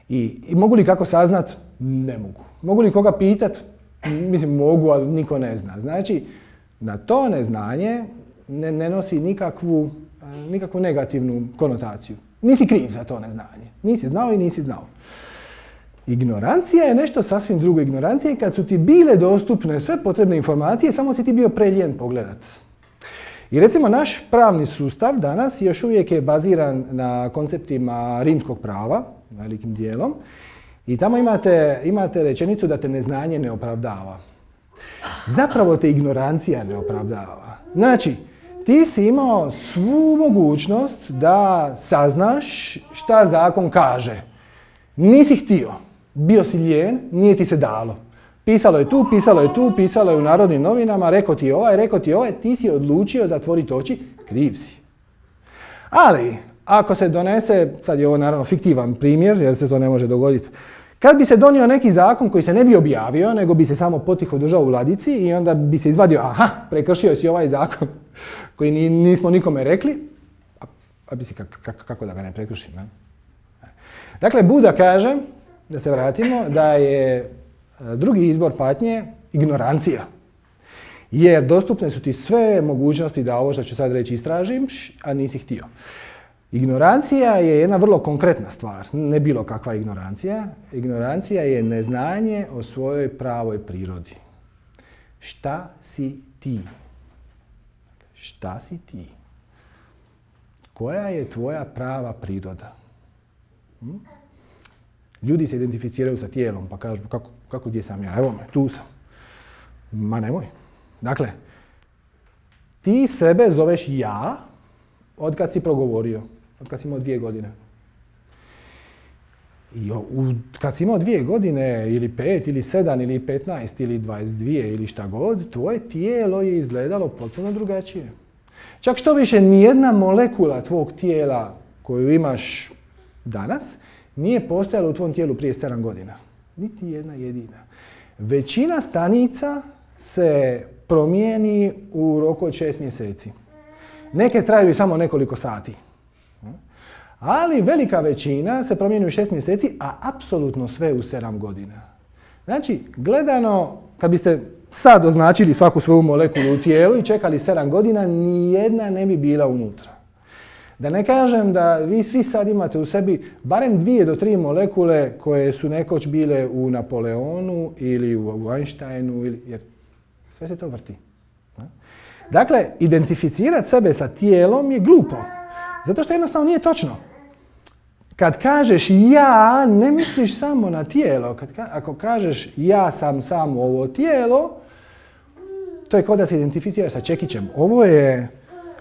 I mogu li kako saznat? Ne mogu. Mogu li koga pitat? Mislim, mogu, ali niko ne zna. Znači, na to neznanje ne nosi nikakvu negativnu konotaciju. Nisi kriv za to neznanje. Nisi znao i nisi znao. Ignorancija je nešto sasvim drugo. Ignorancija je kad su ti bile dostupne sve potrebne informacije, samo si ti bio preljen pogledat. I recimo naš pravni sustav danas još uvijek je baziran na konceptima rimskog prava, velikim dijelom, i tamo imate rečenicu da te neznanje ne opravdava. Zapravo te ignorancija ne opravdava. Znači, ti si imao svu mogućnost da saznaš šta zakon kaže. Nisi htio. Bio si lijen, nije ti se dalo. Pisalo je tu, pisalo je u Narodnim novinama, rekao ti je ovaj, ti si odlučio zatvoriti oči, kriv si. Ali, ako se donese, sad je ovo naravno fiktivan primjer, jer se to ne može dogoditi, kad bi se donio neki zakon koji se ne bi objavio, nego bi se samo potiho držao u ladici i onda bi se izvadio, aha, prekršio si ovaj zakon koji nismo nikome rekli, a bi si kako da ga ne prekršim, ne? Dakle, Buda kaže, da se vratimo, da je drugi izbor patnje ignorancija. Jer dostupne su ti sve mogućnosti da ovo što ću sad reći istražiš, a nisi htio. Ignorancija je jedna vrlo konkretna stvar, ne bilo kakva ignorancija. Ignorancija je neznanje o svojoj pravoj prirodi. Šta si ti? Šta si ti? Koja je tvoja prava priroda? Ljudi se identificiraju sa tijelom pa kažu kako gdje sam ja? Evo me, tu sam. Ma nemoj. Dakle, ti sebe zoveš ja od kad si progovorio, od kad si imao 2 godine. I kad si imao 2 godine, ili 5, ili 7, ili 15, ili 22, ili šta god, tvoje tijelo je izgledalo potpuno drugačije. Čak što više, nijedna molekula tvog tijela koju imaš danas nije postojala u tvom tijelu prije 7 godina. Niti jedna jedina. Većina stanica se promijeni u roku od 6 mjeseci. Neke traju samo nekoliko sati. Ali velika većina se promijeni u 6 mjeseci, a apsolutno sve u 7 godina. Znači, gledano, kad biste sad označili svaku svoju molekulu u tijelu i čekali 7 godina, nijedna ne bi bila unutra. Da ne kažem da vi svi sad imate u sebi barem 2 do 3 molekule koje su nekoć bile u Napoleonu ili u Einsteinu, jer sve se to vrti. Dakle, identificirati sebe sa tijelom je glupo. Zato što jednostavno nije točno. Kad kažeš ja, ne misliš samo na tijelo. Ako kažeš ja sam samo ovo tijelo, to je kao da se identificiraš sa čekićem. Ovo je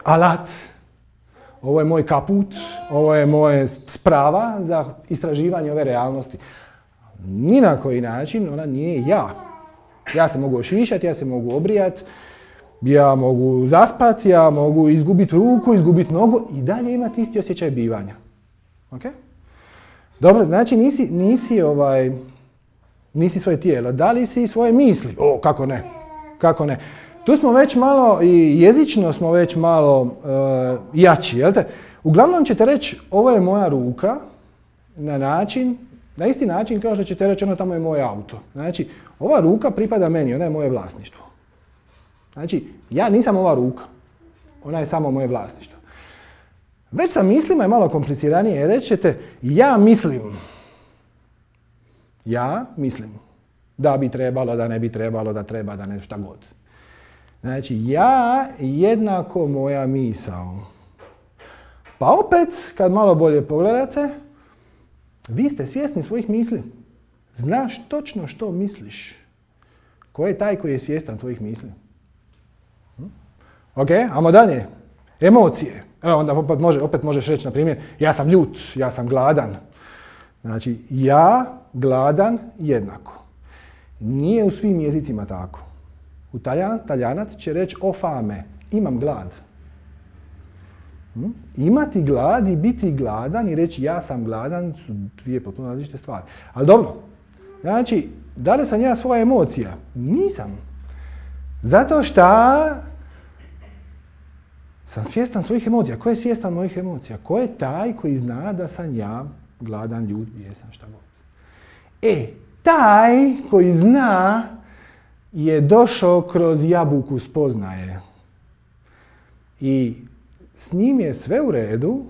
alat, ovo je moj kaput, ovo je moja sprava za istraživanje ove realnosti. Ni na koji način ona nije ja. Ja se mogu ošišati, ja se mogu obrijati, ja mogu zaspati, ja mogu izgubiti ruku, izgubiti nogu i dalje imati isti osjećaj bivanja. Okay? Dobro, znači nisi svoje tijelo. Da li si svoje misli? O, kako ne? Kako ne? Tu smo već malo, i jezično smo već malo jači, jel te? Uglavnom ćete reći, ovo je moja ruka, na isti način kao što ćete reći, ono tamo je moj auto. Znači, ova ruka pripada meni, ona je moje vlasništvo. Znači, ja nisam ova ruka, ona je samo moje vlasništvo. Već sa mislima je malo kompliciranije, jer reći ćete, ja mislim da bi trebalo, da ne bi trebalo, da treba, da ne, šta god. Znači, ja jednako moja misao. Pa opet, kad malo bolje pogledate, vi ste svjesni svojih misli. Znaš točno što misliš. Ko je taj koji je svjestan tvojih misli? Ok, ajmo dalje. Emocije. Evo, onda opet možeš reći, na primjer, ja sam ljut, ja sam gladan. Znači, ja, gladan, jednako. Nije u svim jezicima tako. Talijanac će reći o fame, imam glad. Imati glad i biti gladan i reći ja sam gladan su dvije potpuno različite stvari. Ali dobro, znači, da li sam ja svoja emocija? Nisam. Zato što Sam svjestan svojih emocija. Ko je svjestan mojih emocija? Ko je taj koji zna da sam ja gladan, ljut, bijesan, šta god? Taj koji zna je došao kroz jabuku spoznaje. I s njim je sve u redu,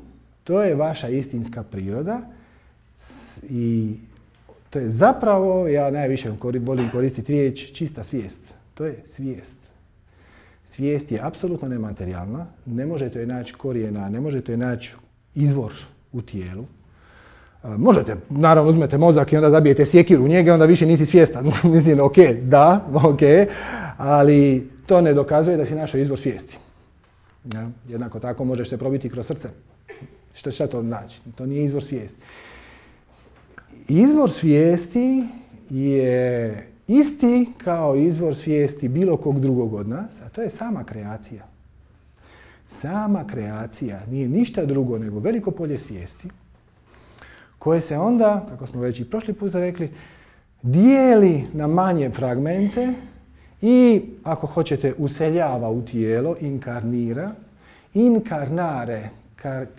to je vaša istinska priroda i to je zapravo, ja najviše volim koristiti riječ, čista svijest. To je svijest. Svijest je apsolutno nematerijalna, ne možete joj naći korijena, ne možete joj naći izvor u tijelu. Možete, naravno uzmete mozak i onda zabijete sjekiru u njega i onda više nisi svjestan. Mislim, ok, da, ok, ali to ne dokazuje da si našao izvor svijesti. Ja? Jednako tako možeš se probiti kroz srce. Šta to znači? To nije izvor svijesti. Izvor svijesti je isti kao izvor svijesti bilo kog drugog od nas, a to je sama kreacija. Sama kreacija nije ništa drugo nego veliko polje svijesti koje se onda, kako smo već i prošli put rekli, dijeli na manje fragmente i, ako hoćete, useljava u tijelo, inkarnira. Inkarnare,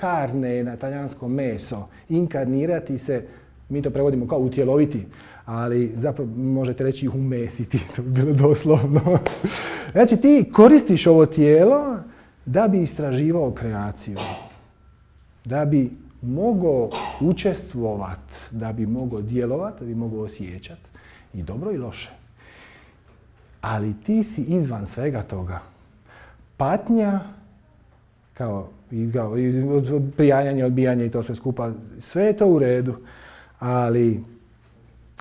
carne na talijanskom meso, inkarnirati se, mi to prevodimo kao utjeloviti, ali zapravo možete reći umesiti, to bi bilo doslovno. Znači ti koristiš ovo tijelo da bi istraživao kreaciju, da bi mogao učestvovati, da bi mogao djelovati, da bi mogao osjećati i dobro i loše. Ali ti si izvan svega toga. Patnja, kao prijanjanje, odbijanje i to sve skupa, sve je to u redu, ali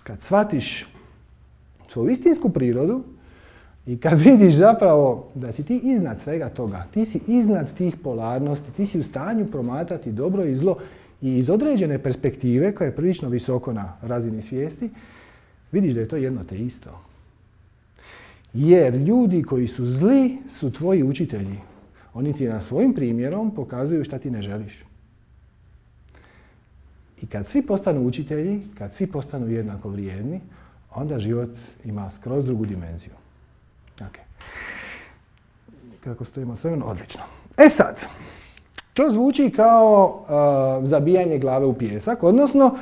kad shvatiš svoju istinsku prirodu i kad vidiš zapravo da si ti iznad svega toga, ti si iznad tih polarnosti, ti si u stanju promatrati dobro i zlo i iz određene perspektive, koja je prilično visoko na razini svijesti, vidiš da je to jedno te isto. Jer ljudi koji su zli su tvoji učitelji. Oni ti na svojim primjerom pokazuju šta ti ne želiš. I kad svi postanu učitelji, kad svi postanu jednako vrijedni, onda život ima skroz drugu dimenziju. Okay. Kako stojimo s vremenom? Odlično. Sad, to zvuči kao zabijanje glave u pijesak, odnosno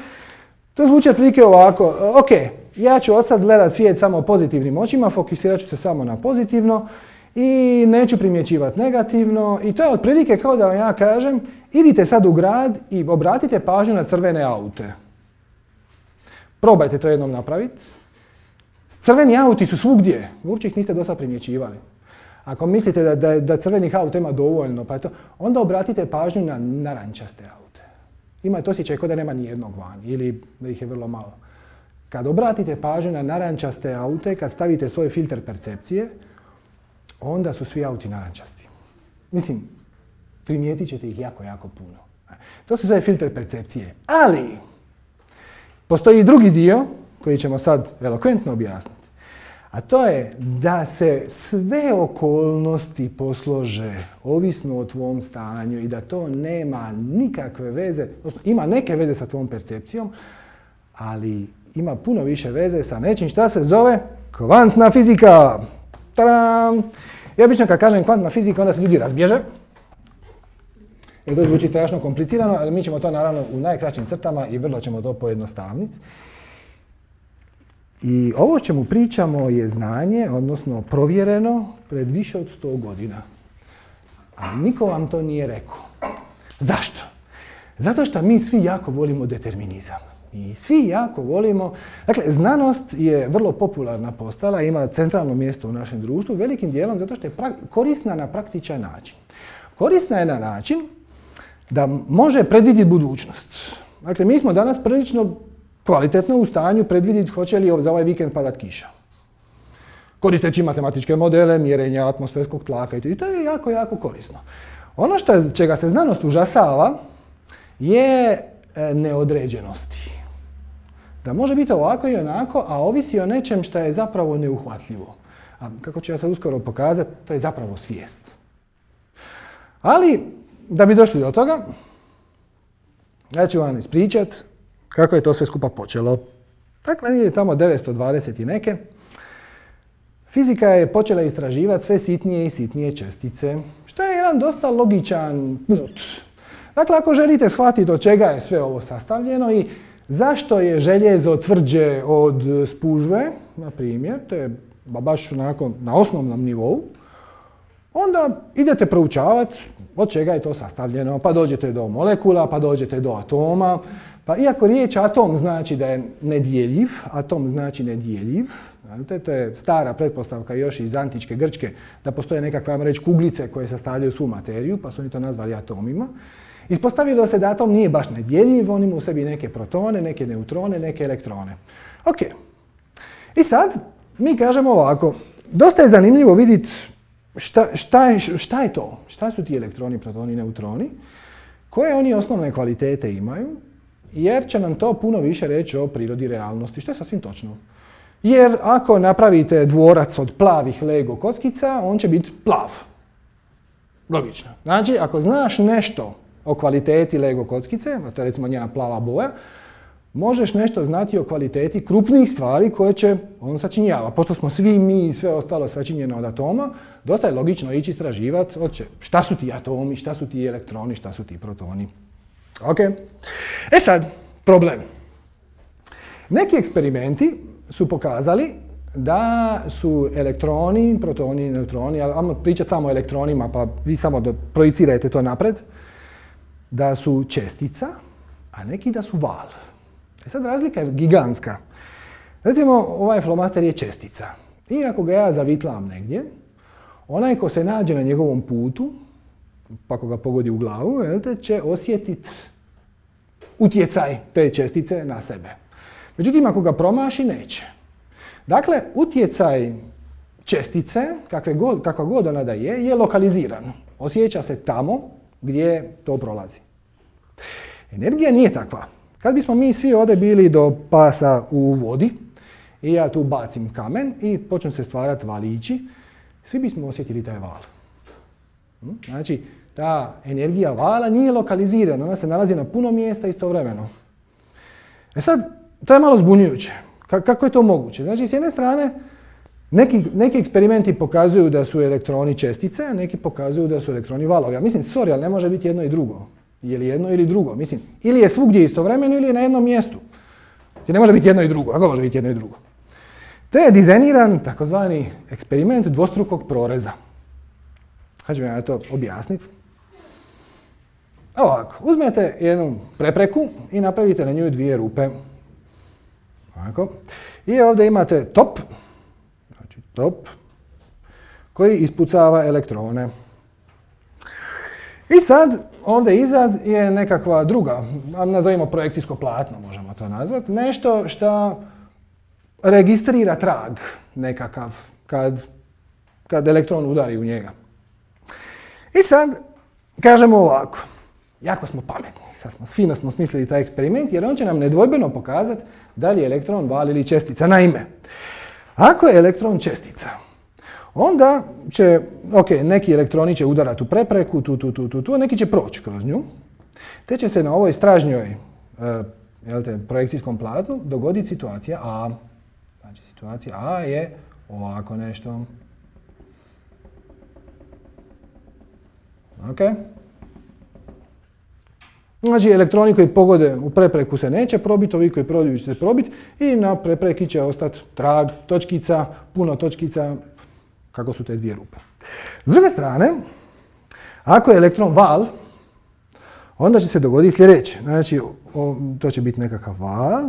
to zvuči otprilike ovako, ok, ja ću od sad gledat svijet samo pozitivnim očima, fokusirat ću se samo na pozitivno i neću primjećivati negativno i to je otprilike kao da vam ja kažem, idite sad u grad i obratite pažnju na crvene aute. Probajte to jednom napraviti. Crveni auti su svugdje, uopće ih niste do sad primjećivali. Ako mislite da crvenih auta ima dovoljno, pa to, onda obratite pažnju na narančaste aute. Imate osjećaj kao da nema nijednog van ili da ih je vrlo malo. Kad obratite pažnju na narančaste aute, kad stavite svoj filter percepcije, onda su svi auti narančasti. Mislim, primijetit ćete ih jako, jako puno. To su sve filter percepcije. Ali, postoji i drugi dio koji ćemo sad elokventno objasniti. A to je da se sve okolnosti poslože ovisno o tvom stanju i da to nema nikakve veze, ima neke veze sa tvom percepcijom, ali ima puno više veze sa nečim šta se zove kvantna fizika. Tadam! I obično kad kažem kvantna fizika, onda se ljudi razbježe. Jer to zvuči strašno komplicirano, ali mi ćemo to naravno u najkraćim crtama i vrlo ćemo to pojednostavniti. I ovo o čemu pričamo je znanje, odnosno provjereno pred više od 100 godina. A niko vam to nije rekao. Zašto? Zato što mi svi jako volimo determinizam. I svi jako volimo... Dakle, znanost je vrlo popularna postala, ima centralno mjesto u našem društvu, velikim dijelom zato što je korisna na praktičan način. Korisna je na način da može predvidjeti budućnost. Dakle, mi smo danas prilično kvalitetno u stanju predvidjeti hoće li za ovaj vikend padat kiša. Koristeći matematičke modele, mjerenja atmosferskog tlaka i to je jako, jako korisno. Ono čega se znanost užasava je neodređenosti. Da može biti ovako i onako, a ovisi o nečem što je zapravo neuhvatljivo. A kako ću ja sad uskoro pokazati, to je zapravo svijest. Ali, da bi došli do toga, ja ću vam ispričati kako je to sve skupa počelo. Dakle, nije tamo 920 i neke. Fizika je počela istraživati sve sitnije i sitnije čestice, što je jedan dosta logičan put. Dakle, ako želite shvatiti od čega je sve ovo sastavljeno i zašto je željezo tvrđe od spužve, na primjer, to je baš onako na osnovnom nivou, onda idete proučavati od čega je to sastavljeno, pa dođete do molekula, pa dođete do atoma, pa iako riječ atom znači da je nedjeljiv, atom znači nedjeljiv, to je stara pretpostavka još iz antičke Grčke, da postoje nekakve, ajmo reći, kuglice koje sastavljaju svu materiju, pa su oni to nazvali atomima. Ispostavilo se da atom nije baš nedjeljiv, on ima u sebi neke protone, neke neutrone, neke elektrone. Ok. I sad mi kažemo ovako, dosta je zanimljivo vidjeti šta je to, šta su ti elektroni, protoni, neutroni, koje oni osnovne kvalitete imaju, jer će nam to puno više reći o prirodi realnosti, što je sasvim točno. Jer ako napravite dvorac od plavih Lego kockica, on će biti plav. Logično. Znači, ako znaš nešto o kvaliteti Lego kockice, a to je recimo njena plava boja, možeš nešto znati o kvaliteti krupnijih stvari koje će on sačinjava. Pošto smo svi mi i sve ostalo sačinjeno od atoma, dosta je logično ići istraživati šta su ti atomi, šta su ti elektroni, šta su ti protoni. Ok. E sad, problem. Neki eksperimenti su pokazali da su elektroni, protoni, neutroni, ali ajmo pričati samo o elektronima, pa vi samo projicirajte to napred, da su čestica, a neki da su val. E sad razlika je gigantska. Recimo, ovaj flomaster je čestica. I ako ga ja zavitlam negdje, onaj ko se nađe na njegovom putu, pa ako ga pogodi u glavu, će osjetiti utjecaj te čestice na sebe. Međutim, ako ga promaši, neće. Dakle, utjecaj čestice, kakva god ona da je lokaliziran. Osjeća se tamo gdje to prolazi. Energija nije takva. Kad bismo mi svi ovdje bili do pasa u vodi i ja tu bacim kamen i počnu se stvarati valići, svi bismo osjetili taj val. Znači, ta energija vala nije lokalizirana, ona se nalazi na puno mjesta istovremeno. E sad, to je malo zbunjujuće. Kako je to moguće? Znači, s jedne strane, neki eksperimenti pokazuju da su elektroni čestice, a neki pokazuju da su elektroni valovi. Ja mislim, sorry, ali ne može biti jedno i drugo. Je li jedno ili drugo? Mislim, ili je svugdje istovremeno ili je na jednom mjestu. Znači, ne može biti jedno i drugo. Kako može biti jedno i drugo? Te je dizajniran takozvani eksperiment dvostrukog proreza. Sad ću vam ja to objasniti. Ovako, uzmete jednu prepreku i napravite na nju dvije rupe. Ovako. I ovdje imate top, znači top, koji ispucava elektrone. I sad, ovdje izad je nekakva druga, nazovimo projekcijsko platno, možemo to nazvati, nešto što registrira trag nekakav kad elektron udari u njega. I sad, kažemo ovako, jako smo pametni, fino smo smislili taj eksperiment jer on će nam nedvojbeno pokazati da li je elektron val ili čestica. Naime, ako je elektron čestica, onda će, neki elektroni će udarati u prepreku, tu, neki će proći kroz nju, te će se na ovoj stražnjoj projekcijskom platnu dogoditi situacija A. Znači, situacija A je ovako nešto. Ok. Znači, elektroni koji pogode u prepreku se neće probiti, ovi koji prođu će se probiti i na prepreki će ostati trag, točkica, puno točkica, kako su te dvije rupe. S druge strane, ako je elektron val, onda će se dogoditi sljedeće. Znači, to će biti nekakav val.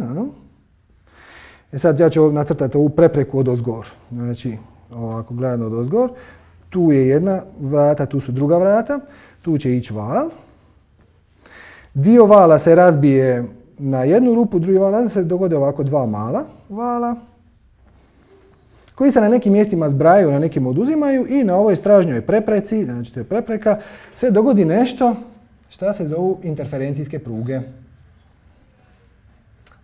Sad ja ću nacrtati ovu prepreku odozgor. Znači, ovako gledano odozgor. Tu je jedna vrata, tu su druga vrata. Tu će ići val. Dio vala se razbije na jednu rupu, drugi val se dogode ovako dva mala vala, koji se na nekim mjestima zbrajaju, na nekim oduzimaju i na ovoj stražnjoj prepreci, znači to je prepreka, se dogodi nešto što se zovu interferencijske pruge.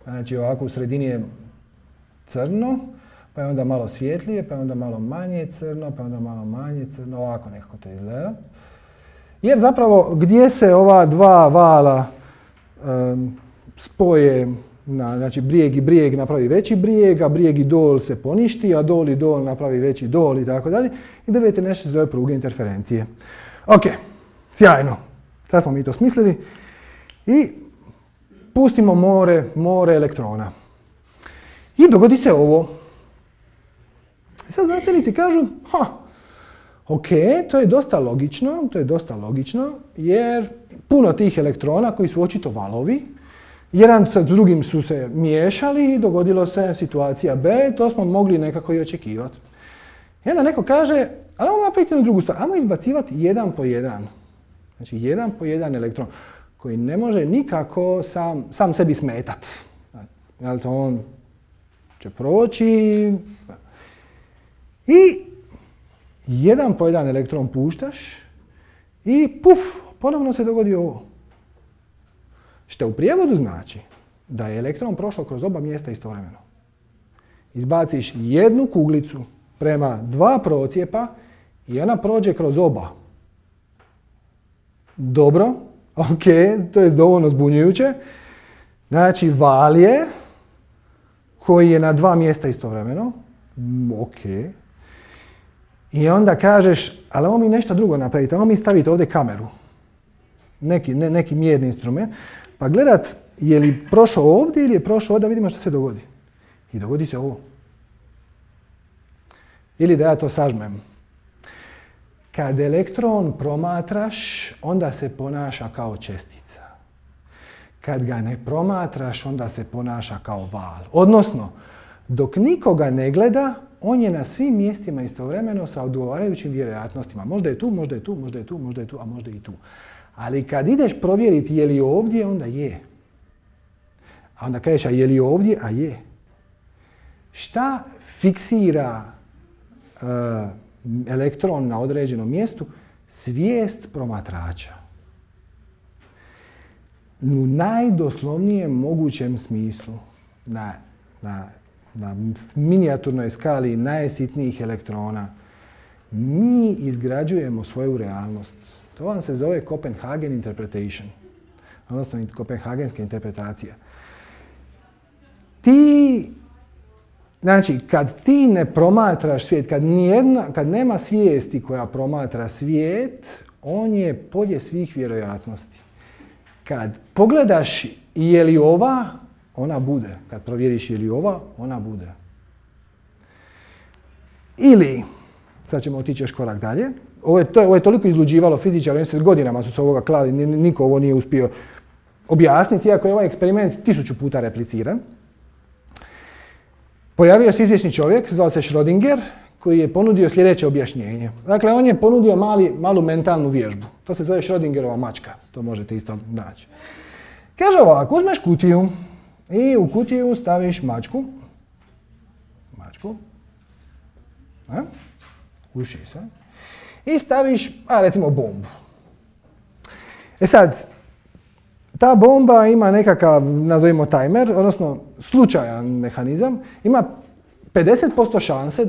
Znači ovako u sredini je crno, pa je onda malo svjetlije, pa je onda malo manje crno, pa je onda malo manje crno, ovako nekako to izgleda. Jer zapravo gdje se ova dva vala spoje, znači brijeg i brijeg napravi veći brijeg, a brijeg i dol se poništi, a dol i dol napravi veći dol i tako dalje, i dobijete nešto se zove pruge interferencije. Ok, sjajno. Sad smo mi to smislili. I pustimo more elektrona. I dogodi se ovo. I sad znanstvenici kažu, ok, to je dosta logično, jer puno tih elektrona koji su očito valovi, jedan sa drugim su se miješali i dogodilo se situacija B, to smo mogli nekako i očekivati. I onda neko kaže, ali ajmo napraviti jednu drugu stvar, ajmo izbacivati jedan po jedan. Znači jedan po jedan elektron koji ne može nikako sam sebi smetati. Jel to on će proći i jedan po jedan elektron puštaš i puf, ponovno se dogodi ovo. Što u prijevodu znači da je elektron prošao kroz oba mjesta istovremeno. Izbaciš jednu kuglicu prema dva procjepa i ona prođe kroz oba. Dobro, ok, to je dovoljno zbunjujuće. Znači val je koji je na dva mjesta istovremeno. Ok. I onda kažeš, ali ovo mi nešto drugo napravite, ovo mi stavite ovdje kameru. Neki mjerni instrument. Pa gledat je li prošao ovdje ili je prošao ovdje, vidimo što se dogodi. I dogodi se ovo. Ili da ja to sažmem. Kad elektron promatraš, onda se ponaša kao čestica. Kad ga ne promatraš, onda se ponaša kao val. Odnosno, dok nikoga ne gleda, on je na svim mjestima istovremeno sa odgovarajućim vjerojatnostima. Možda je tu, možda je tu, možda je tu, možda je tu, a možda i tu. Ali kad ideš provjeriti je li ovdje, onda je. A onda kažeš, a je li ovdje, a je. Šta fiksira elektron na određenom mjestu? Svijest promatrača. U najdoslovnijem mogućem smislu, na minijaturnoj skali najsitnijih elektrona, mi izgrađujemo svoju realnost. To vam se zove Copenhagen interpretation, odnosno kopenhagenska interpretacija. Znači, kad ti ne promatraš svijet, kad nema svijesti koja promatra svijet, on je polje svih vjerojatnosti. Kad pogledaš je li ova, ona bude. Kad provjeriš je li ova, ona bude. Ili, sad ćemo otići još korak dalje, ovo je toliko izluđivalo fizičara, oni se godinama su se ovoga klali, niko ovo nije uspio objasniti, iako je ovaj eksperiment 1000 puta repliciran. Pojavio se izvjesni čovjek, zvao se Schrödinger, koji je ponudio sljedeće objašnjenje. Dakle, on je ponudio malu mentalnu vježbu. To se zove Schrödingerova mačka. To možete isto naći. Kaže ovako, uzmeš kutiju i u kutiju staviš mačku. Uši se. I staviš, recimo, bombu. E sad, ta bomba ima nekakav, nazovimo timer, odnosno slučajan mehanizam, ima 50% šanse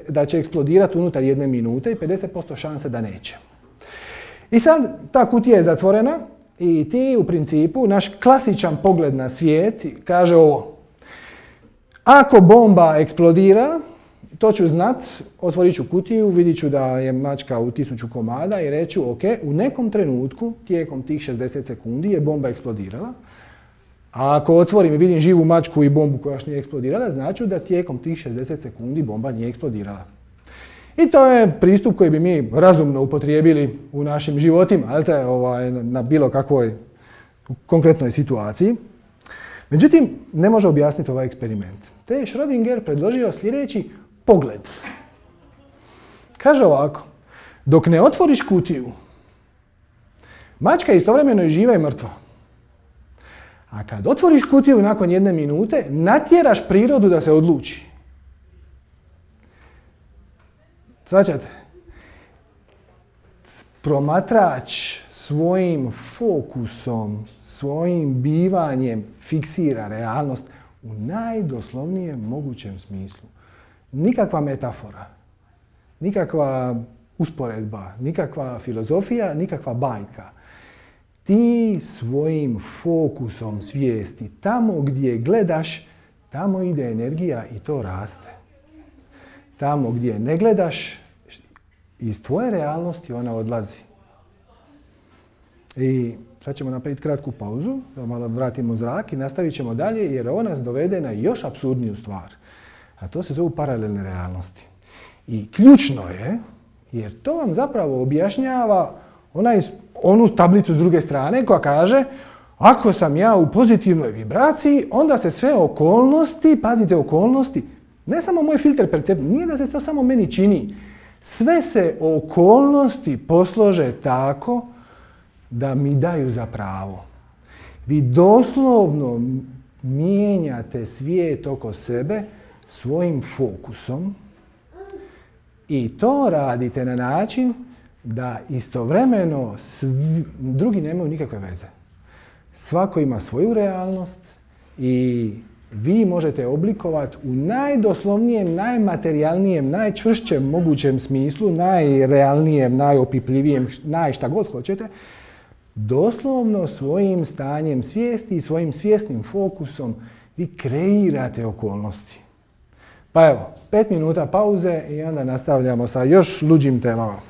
da će eksplodirati unutar 1 minute i 50% šanse da neće. I sad ta kutija je zatvorena i ti u principu, naš klasičan pogled na svijet kaže ovo. Ako bomba eksplodira, to ću znat, otvorit ću kutiju, vidit ću da je mačka u 1000 komada i reću ok, u nekom trenutku, tijekom tih 60 sekundi je bomba eksplodirala. A ako otvorim i vidim živu mačku i bombu koja još nije eksplodirala, znači da tijekom tih 60 sekundi bomba nije eksplodirala. I to je pristup koji bi mi razumno upotrijebili u našim životima, na bilo kakvoj konkretnoj situaciji. Međutim, ne može objasniti ovaj eksperiment. Te je Schrödinger predložio sljedeći pogled. Kaže ovako, dok ne otvoriš kutiju, mačka je istovremeno i živa i mrtva. A kad otvoriš kutiju nakon 1 minute, natjeraš prirodu da se odluči. Shvaćate? Promatrač svojim fokusom, svojim bivanjem fiksira realnost u najdoslovnijem mogućem smislu. Nikakva metafora, nikakva usporedba, nikakva filozofija, nikakva bajka. Ti svojim fokusom svijesti, tamo gdje gledaš, tamo ide energija i to raste. Tamo gdje ne gledaš, iz tvoje realnosti ona odlazi. I sad ćemo napraviti kratku pauzu, da malo vratimo zrak i nastavit ćemo dalje jer ovo nas dovede na još apsurdniju stvar. A to se zovu paralelne realnosti. I ključno je, jer to vam zapravo objašnjava onu tablicu s druge strane koja kaže ako sam ja u pozitivnoj vibraciji, onda se sve okolnosti, pazite okolnosti, ne samo moj filter percepcije, nije da se to samo meni čini, sve se okolnosti poslože tako da mi daju za pravo. Vi doslovno mijenjate svijet oko sebe svojim fokusom i to radite na način da istovremeno drugi nemaju nikakve veze. Svako ima svoju realnost i vi možete oblikovati u najdoslovnijem, najmaterijalnijem, najčvršćem mogućem smislu, najrealnijem, najopipljivijem, šta god hoćete, doslovno svojim stanjem svijesti i svojim svjesnim fokusom vi kreirate okolnosti. Pa evo, 5 minuta pauze i onda nastavljamo sa još luđim temama.